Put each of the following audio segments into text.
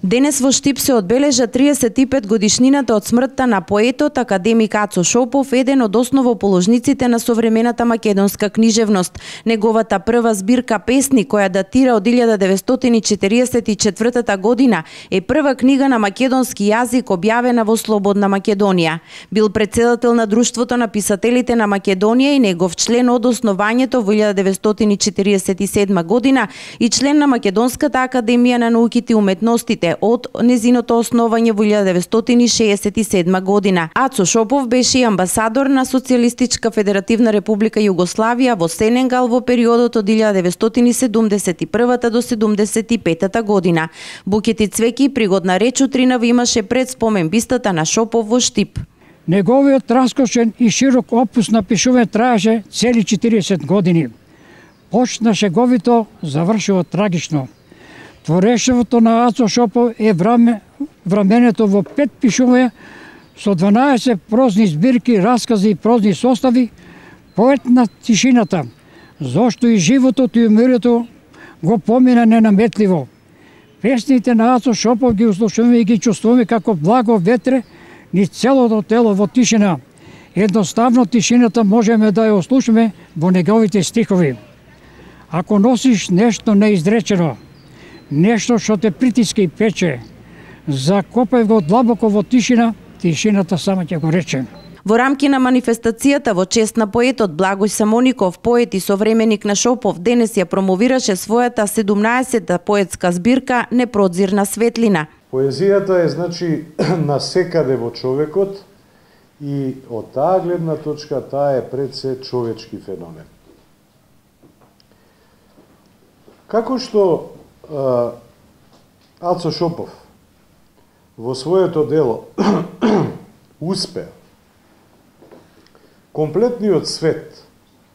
Денес во Штип се одбележа 35 годишнината од смртта на поетот академик Ацо Шопов, еден од основоположниците на современата македонска книжевност. Неговата прва збирка песни, која датира од 1944 година, е прва книга на македонски јазик објавена во Слободна Македонија. Бил претседател на Друштвото на писателите на Македонија и негов член од основањето во 1947 година и член на Македонската академија на науките и уметностите од незиното основање во 1967 година. Ацо Шопов беше и амбасадор на Социјалистичка Федеративна Република Југославија во Сенегал во периодот од 1971 до 1975 година. Букети цвеќе и пригодна реч утринава имаше пред спомен бистата на Шопов во Штип. Неговиот раскошен и широк опус на пишување траеше цели 40 години. Почна шеговито, завршува трагично. Творешевото на Ацо Шопов е враменето во 5 пишувања со 12 прозни збирки, раскази и прозни состави, поет на тишината, зошто и животот и умирето го помина ненаметливо. Песните на Ацо Шопов ги услушуваме и ги чувствуваме како благо ветре низ целото тело во тишина. Едноставно тишината можеме да ја ослушаме во неговите стихови. Ако носиш нешто неизречено, нешто што те притиска и пече, закопај го длабоко во тишина, тишината сама ќе го рече. Во рамки на манифестацијата во чест на поетот Благој Самоников, поет и современик на Шопов, денес ја промовираше својата 17-та поетска збирка Непродзирна светлина. Поезијата е значи насекаде во човекот и од таа гледна точка таа е пред се човечки феномен. Како што Ацо Шопов во своето дело успеа комплетниот свет,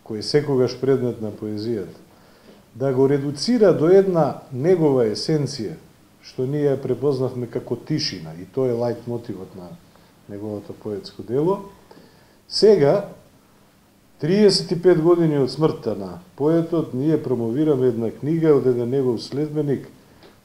кој е секогаш предмет на поезијата, да го редуцира до една негова есенција, што ние ја препознавме како тишина, и тоа е лајт мотивот на неговото поетско дело. Сега, 35 години од смртта на поетот, ние промовираме една книга од еден негов следбеник,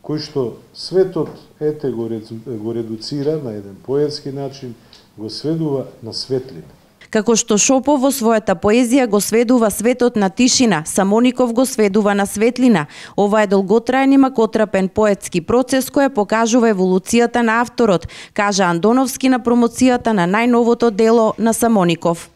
кој што светот ете го редуцира на еден поетски начин, го сведува на светлина. Како што Шопов во својата поезија го сведува светот на тишина, Самоников го сведува на светлина. Ова е долготраен и макотрапен поетски процес кој покажува еволуцијата на авторот, кажа Андоновски на промоцијата на најновото дело на Самоников.